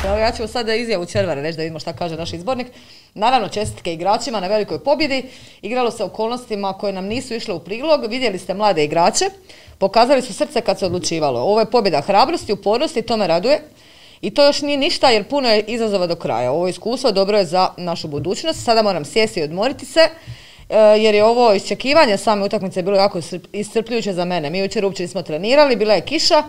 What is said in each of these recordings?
Evo, ja ću sada izjavu Červare reći da vidimo šta kaže naš izbornik. Naravno, čestitke igračima na velikoj pobjedi. Igralo se okolnostima koje nam nisu išle u prilog. Vidjeli ste mlade igrače. Pokazali su srce kad se odlučivalo. Ovo je pobjeda hrabrosti, upornosti i to me raduje. I to još nije ništa jer puno je izazova do kraja. Ovo iskustvo dobro je za našu budućnost. Sada moram sjesti i odmoriti se. Jer je ovo iščekivanje same utakmice bilo jako iscrpljujuće za mene. Mi jučer uopće nismo trenirali, bila je kiša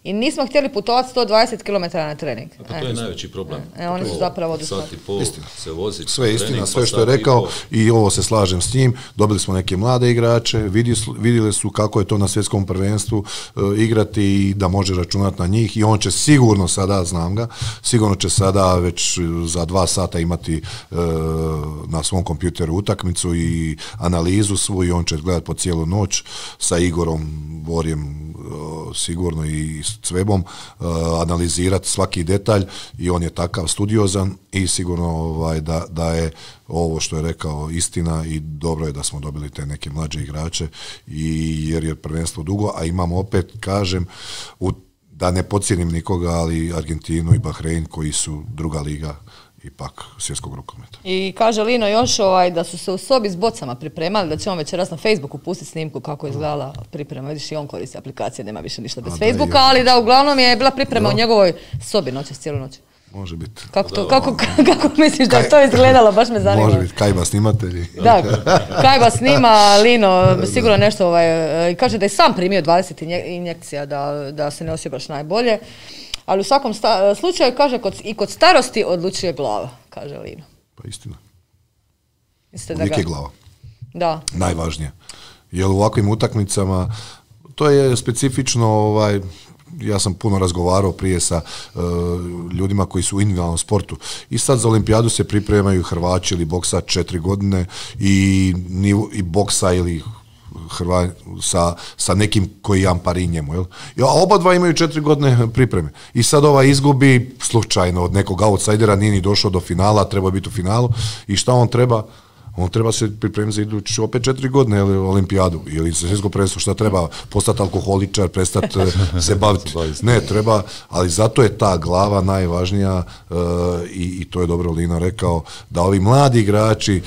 i nismo htjeli putovati 120 km na trening. Pa to je najveći problem. Oni su zapravo sat i pol se vozi. Sve je istina, sve što je rekao i ovo se slažem s njim. Dobili smo neke mlade igrače, vidjeli su kako je to na svjetskom prvenstvu igrati i da može računati na njih i on će sigurno sada, znam ga, sigurno će sada već za 2 sata imati na svom kompjuteru utakmicu i analizu svu i on će gledati po cijelu noć sa Igorom Borjem sigurno i s Cvebom analizirati svaki detalj i on je takav studiozan i sigurno da je ovo što je rekao istina i dobro je da smo dobili te neke mlađe igrače jer je prvenstvo dugo, a imamo opet, kažem, da ne podcijenim nikoga, ali Argentinu i Bahrein koji su druga liga ipak svjetskog rukometa. I kaže Lino još da su se u sobi s bocama pripremali, da će on večeras na Facebooku pustiti snimku kako je izgledala priprema. Vidiš i on koristi aplikacije, nema više ništa bez Facebooka, ali da uglavnom je bila priprema u njegovoj sobi noćas, cijelu noć. Može biti. Kako misliš da je to izgledalo? Baš me zanima. Može biti, Kajba snimatelji. Da, Kajba snima, Lino sigurno nešto, kaže da je sam primio 20 injekcija, da se ne osjeća baš najbolje. Ali u svakom slučaju, kaže, i kod starosti odlučuje glava, kaže Lino. Pa istina. Uvijek je glava. Da. Najvažnije. Jer u ovakvim utakmicama, to je specifično, ja sam puno razgovarao prije sa ljudima koji su u individualnom sportu. I sad za olimpijadu se pripremaju Hrvači ili boksač 4 godine i boksa ili sa nekim koji ampari njemu. A oba dva imaju 4 godine pripreme. I sad izgubi slučajno od nekog outsidera, nije ni došao do finala, treba biti u finalu. I šta on treba? On treba se pripremiti za idući opet 4 godine olimpijadu ili za svjetsko prvenstvo, šta treba postati alkoholičar, prestati se baviti. Ne, treba, ali zato je ta glava najvažnija i to je dobro Lino rekao, da ovi mladi igrači,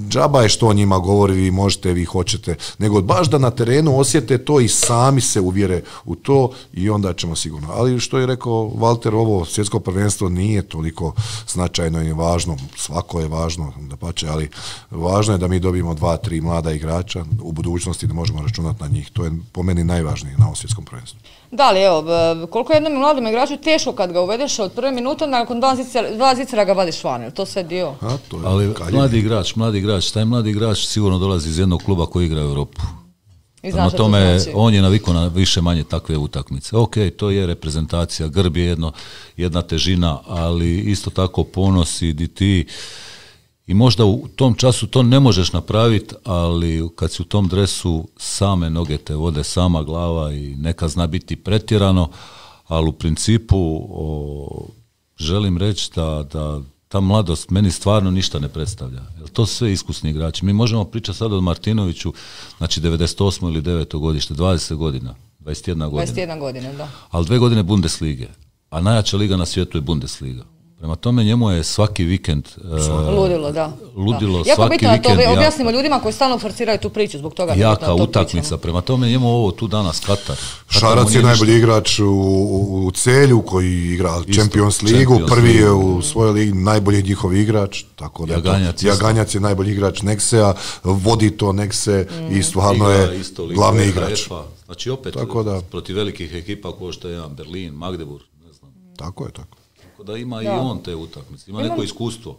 džaba je što o njima govori, vi možete, vi hoćete, nego baš da na terenu osjete to i sami se uvjere u to i onda ćemo sigurno. Ali što je rekao Valter, ovo svjetsko prvenstvo nije toliko značajno i važno, svako je važno, dapače, ali važno je da mi dobijemo 2-3 mlada igrača u budućnosti da možemo računati na njih. To je po meni najvažnije na ovom svjetskom prvenstvu. Da, ali evo, koliko je jednom mladom igraču teško kad ga uvedeš od prve minute, nakon 2 zicera ga vadiš van, je to sve dio? Ali mladi igrač, taj mladi igrač sigurno dolazi iz jednog kluba koji igra u Europu. Prema tome, on je navikao na više manje takve utakmice. Ok, to je reprezentacija, grb je jedna težina, ali isto tako ponos i ti. I možda u tom času to ne možeš napraviti, ali kad si u tom dresu same noge te vode, sama glava i neka zna biti pretjerano, ali u principu želim reći da ta mladost meni stvarno ništa ne predstavlja. Jer to su sve iskusni igrači. Mi možemo pričati sad o Martinoviću, znači 98. ili 9. godište, 20 godina, 21 godina. 21 godina, da. Ali 2 godine Bundeslige, a najjača liga na svijetu je Bundesliga. Prema tome njemu je svaki vikend ludilo, da. Ludilo, jako svaki bitno vikend. To objasnimo ljudima koji stalno forsiraju tu priču, zbog toga jaka utakmica. Prema tome njemu ovo tu danas Katar. Šarac je najbolji igrač u Celju koji igra Champions ligu, prvi je u svojoj ligi najbolji njihov igrač, tako da Jaganjac je najbolji igrač Nexea, vodi to Nexe i stvarno je glavni igrač. Znači opet protiv velikih ekipa kao što je Berlin, Magdeburg, ne znam. Tako je. Da ima i on te utakmice, ima neko iskustvo.